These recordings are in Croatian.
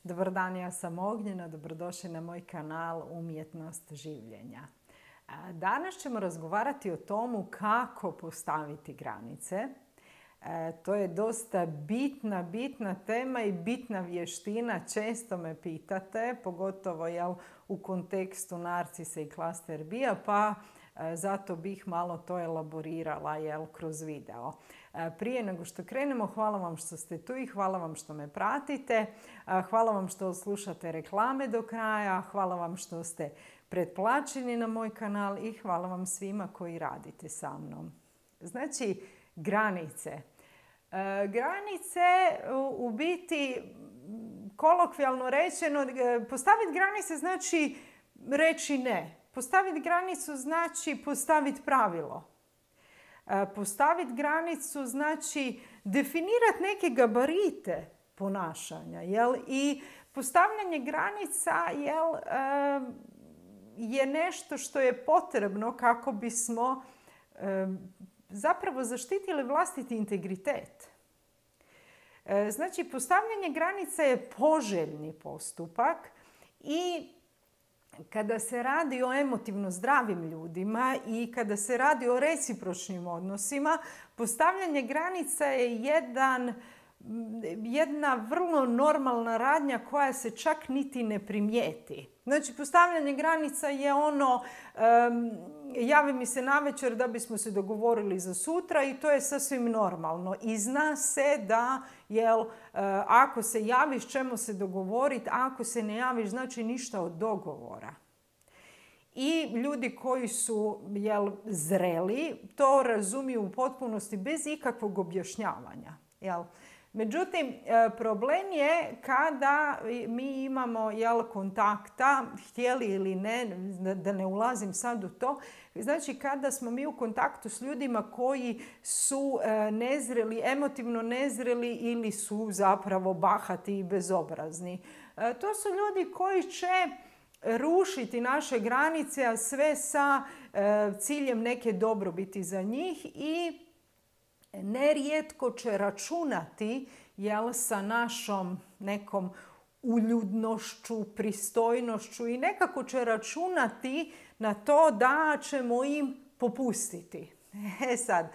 Dobar dan, ja sam Ognjena, dobrodošli na moj kanal Umjetnost življenja. Danas ćemo razgovarati o tomu kako postaviti granice. To je dosta bitna tema i bitna vještina. Često me pitate, pogotovo u kontekstu narcisa i klaster B-a, pa zato bih malo to elaborirala kroz video. Prije nego što krenemo, hvala vam što ste tu i hvala vam što me pratite. Hvala vam što slušate reklame do kraja, hvala vam što ste pretplaćeni na moj kanal i hvala vam svima koji radite sa mnom. Znači, granice. Granice u biti, kolokvijalno rečeno, postaviti granice znači reći ne. Postaviti granicu znači postaviti pravilo. Postaviti granicu znači definirati neke gabarite ponašanja. I postavljanje granica je nešto što je potrebno kako bismo zapravo zaštitili vlastiti integritet. Znači, postavljanje granica je poželjni postupak i kada se radi o emotivno zdravim ljudima i kada se radi o recipročnim odnosima, postavljanje granica je jedna vrlo normalna radnja koja se čak niti ne primijeti. Znači, postavljanje granica je ono, javi mi se navečer da bismo se dogovorili za sutra i to je sasvim normalno. I zna se da, ako se javiš ćemo se dogovoriti, a ako se ne javiš znači ništa od dogovora. I ljudi koji su zreli to razumiju u potpunosti bez ikakvog objašnjavanja. Međutim, problem je kada mi imamo kontakta, htjeli ili ne, da ne ulazim sad u to, znači kada smo mi u kontaktu s ljudima koji su nezreli, emotivno nezreli ili su zapravo bahati i bezobrazni. To su ljudi koji će rušiti naše granice, a sve sa ciljem neke dobrobiti za njih i nerijetko će računati sa našom nekom uljudnošću, pristojnošću i nekako će računati na to da ćemo im popustiti. Sad,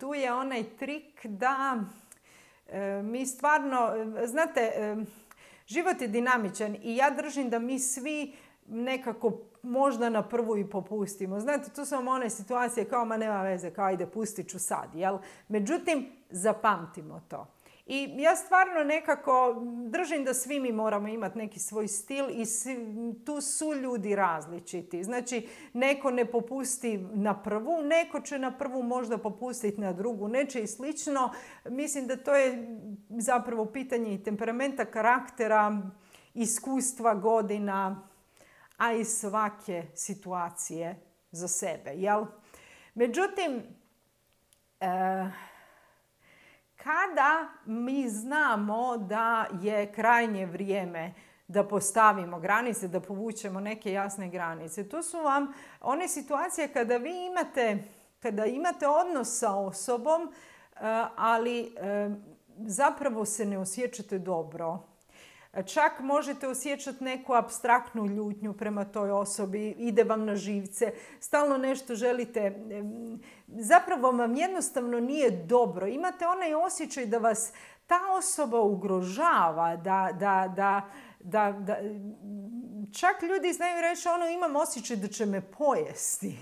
tu je onaj trik da mi stvarno, znate, život je dinamičan i ja držim da mi svi nekako možda na prvu i popustimo. Znate, tu su vam one situacije kao ma nema veze, kao ajde pustit ću sad. Međutim, zapamtimo to. I ja stvarno nekako držim da svi mi moramo imati neki svoj stil i tu su ljudi različiti. Znači, neko ne popusti na prvu, neko će na prvu možda popustiti na drugu, neće i slično. Mislim da to je zapravo pitanje i temperamenta, karaktera, iskustva, godina, a i svake situacije za sebe. Međutim, kada mi znamo da je krajnje vrijeme da postavimo granice, da povučemo neke jasne granice, to su vam one situacije kada vi imate odnos sa osobom, ali zapravo se ne osjećate dobro. Čak možete osjećati neku apstraktnu ljutnju prema toj osobi, ide vam na živce, stalno nešto želite. Zapravo vam jednostavno nije dobro. Imate onaj osjećaj da vas ta osoba ugrožava, da čak ljudi znaju reći imam osjećaj da će me pojesti.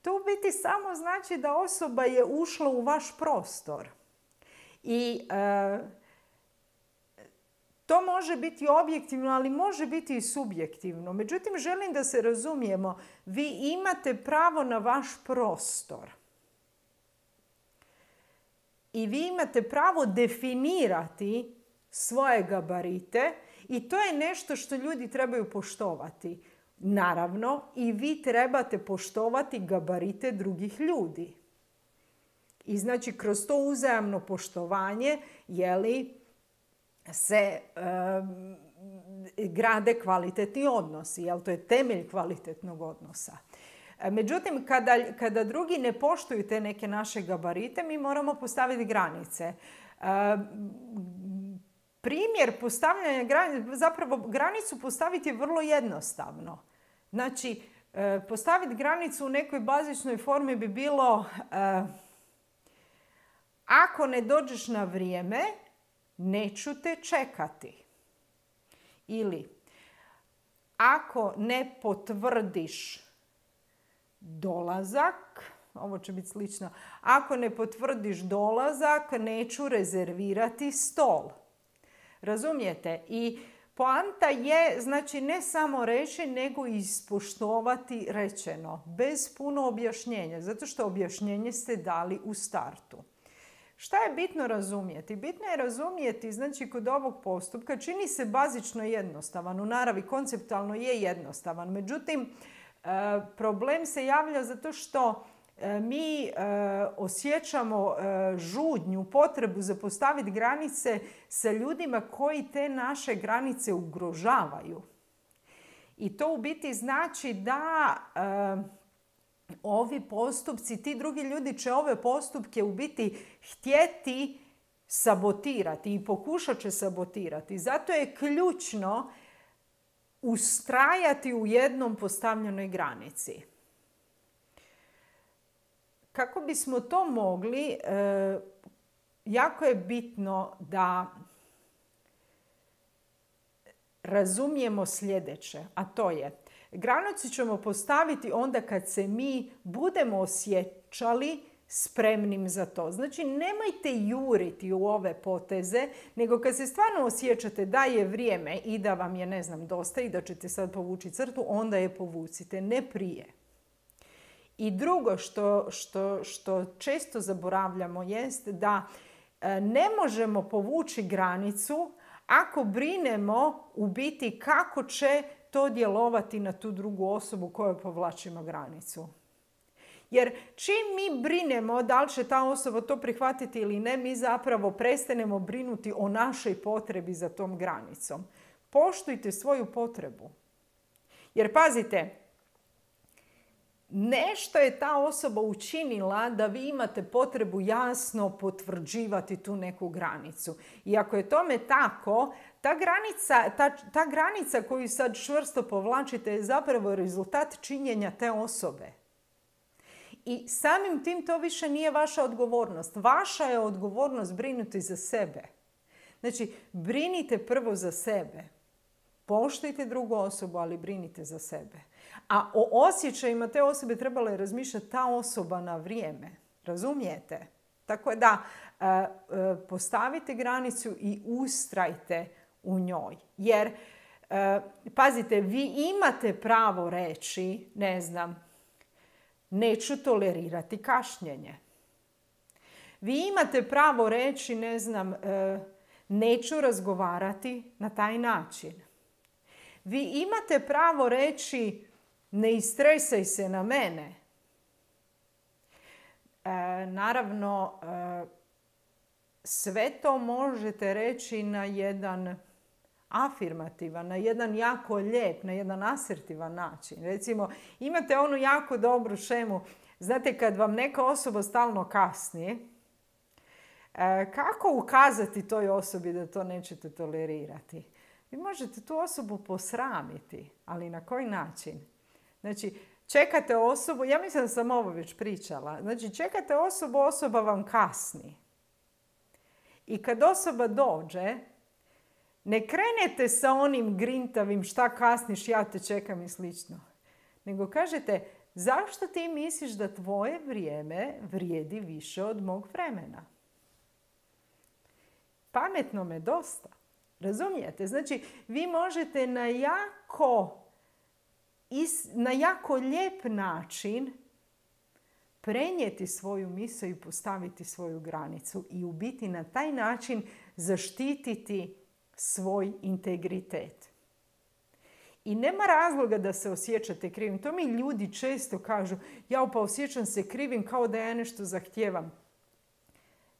To u biti samo znači da osoba je ušla u vaš prostor. I to može biti objektivno, ali može biti i subjektivno. Međutim, želim da se razumijemo. Vi imate pravo na vaš prostor. I vi imate pravo definirati svoje gabarite i to je nešto što ljudi trebaju poštovati. Naravno, i vi trebate poštovati gabarite drugih ljudi. I znači, kroz to uzajamno poštovanje, se grade kvalitetni odnosi. To je temelj kvalitetnog odnosa. Međutim, kada drugi ne poštuju te neke naše gabarite, mi moramo postaviti granice. primjer postavljanja granice, zapravo granicu postaviti je vrlo jednostavno. Znači, postaviti granicu u nekoj bazičnoj formi bi bilo ako ne dođeš na vrijeme, neću te čekati. Ili ako ne potvrdiš dolazak, ovo će biti slično, ako ne potvrdiš dolazak, neću rezervirati stol. Razumijete? I poanta je, znači, ne samo reći, nego ispoštovati rečeno, bez puno objašnjenja, zato što objašnjenje ste dali u startu. Šta je bitno razumjeti? Bitno je razumjeti, znači, kod ovog postupka čini se bazično jednostavan, u naravi konceptualno je jednostavan, međutim, problem se javlja zato što mi osjećamo žudnju, potrebu za postaviti granice sa ljudima koji te naše granice ugrožavaju. I to u biti znači da ovi postupci, ti drugi ljudi će ove postupke u biti htjeti sabotirati i pokušat će sabotirati. Zato je ključno ustrajati u jednom postavljenoj granici. Kako bismo to mogli, jako je bitno da razumijemo sljedeće, a to je granicu ćemo postaviti onda kad se mi budemo osjećali spremnim za to. Znači, nemojte juriti u ove poteze, nego kad se stvarno osjećate da je vrijeme i da vam je, ne znam, dosta i da ćete sad povući crtu, onda je povucite, ne prije. I drugo što često zaboravljamo jest da ne možemo povući granicu ako brinemo u biti kako će to djelovati na tu drugu osobu koju povlačimo granicu. Jer čim mi brinemo da li će ta osoba to prihvatiti ili ne, mi zapravo prestanemo brinuti o našoj potrebi za tom granicom. Poštujte svoju potrebu. Jer pazite, nešto je ta osoba učinila da vi imate potrebu jasno potvrđivati tu neku granicu. I ako je tome tako, ta granica koju sad čvrsto povlačite je zapravo rezultat činjenja te osobe. I samim tim to više nije vaša odgovornost. Vaša je odgovornost brinuti za sebe. Znači, brinite prvo za sebe. Poštujte drugu osobu, ali brinite za sebe. A o osjećajima te osobe trebala je razmišljati ta osoba na vrijeme. Razumijete? Tako da postavite granicu i ustrajte u njoj. Jer, pazite, vi imate pravo reći, ne znam, neću tolerirati kašnjenje. Vi imate pravo reći, ne znam, neću razgovarati na taj način. Vi imate pravo reći, ne istresaj se na mene. Naravno, sve to možete reći na jedan afirmativan, na jedan jako lijep, na jedan asertivan način. Recimo, imate onu jako dobru šemu. Znate, kad vam neka osoba stalno kasni, kako ukazati toj osobi da to nećete tolerirati? Vi možete tu osobu posramiti, ali na koji način? Znači, čekate osobu, ja mislim da sam ovo već pričala, znači čekate osobu, osoba vam kasni. I kad osoba dođe, ne krenete sa onim grintavim šta kasniš, ja te čekam i slično. Nego kažete, zašto ti misliš da tvoje vrijeme vrijedi više od mog vremena? Pametno me dosta. Razumijete? Znači, vi možete na jako lijep način prenijeti svoju misao i postaviti svoju granicu i u biti na taj način zaštititi svoj integritet. I nema razloga da se osjećate krivim. To mi ljudi često kažu, ja pa osjećam se krivim kao da ja nešto zahtijevam.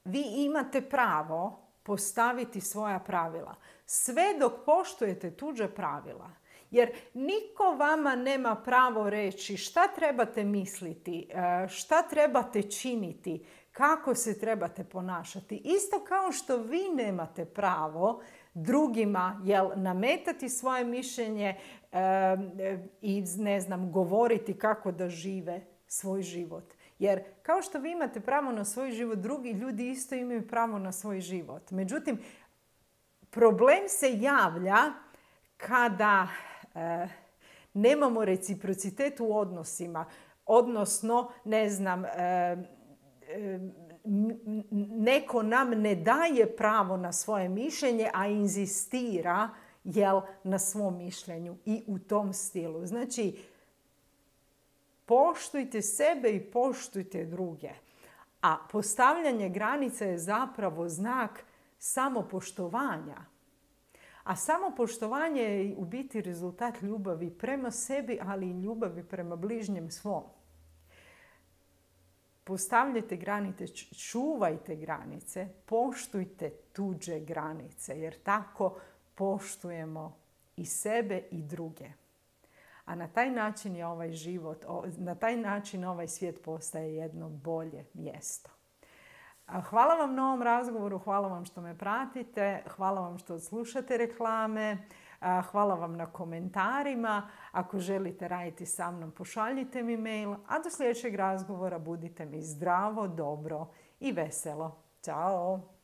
Vi imate pravo postaviti svoja pravila. Sve dok poštujete tuđa pravila. Jer niko vama nema pravo reći šta trebate misliti, šta trebate činiti, kako se trebate ponašati. Isto kao što vi nemate pravo drugima nametati svoje mišljenje i govoriti kako da žive svoj život. Jer kao što vi imate pravo na svoj život, drugi ljudi isto imaju pravo na svoj život. Međutim, problem se javlja kada nemamo reciprocitet u odnosima. Odnosno, neko nam ne daje pravo na svoje mišljenje, a inzistira na svom mišljenju i u tom stilu. Znači, poštujte sebe i poštujte druge. A postavljanje granica je zapravo znak samopoštovanja. A samopoštovanje je u biti rezultat ljubavi prema sebi, ali i ljubavi prema bližnjem svom. Postavljajte granice, čuvajte granice, poštujte tuđe granice, jer tako poštujemo i sebe i druge. A na taj način je ovaj život, na taj način ovaj svijet postaje jedno bolje mjesto. Hvala vam na ovom razgovoru, hvala vam što me pratite, hvala vam što slušate reklame, hvala vam na komentarima. Ako želite raditi sa mnom, pošaljite mi mail, a do sljedećeg razgovora budite mi zdravo, dobro i veselo. Ćao!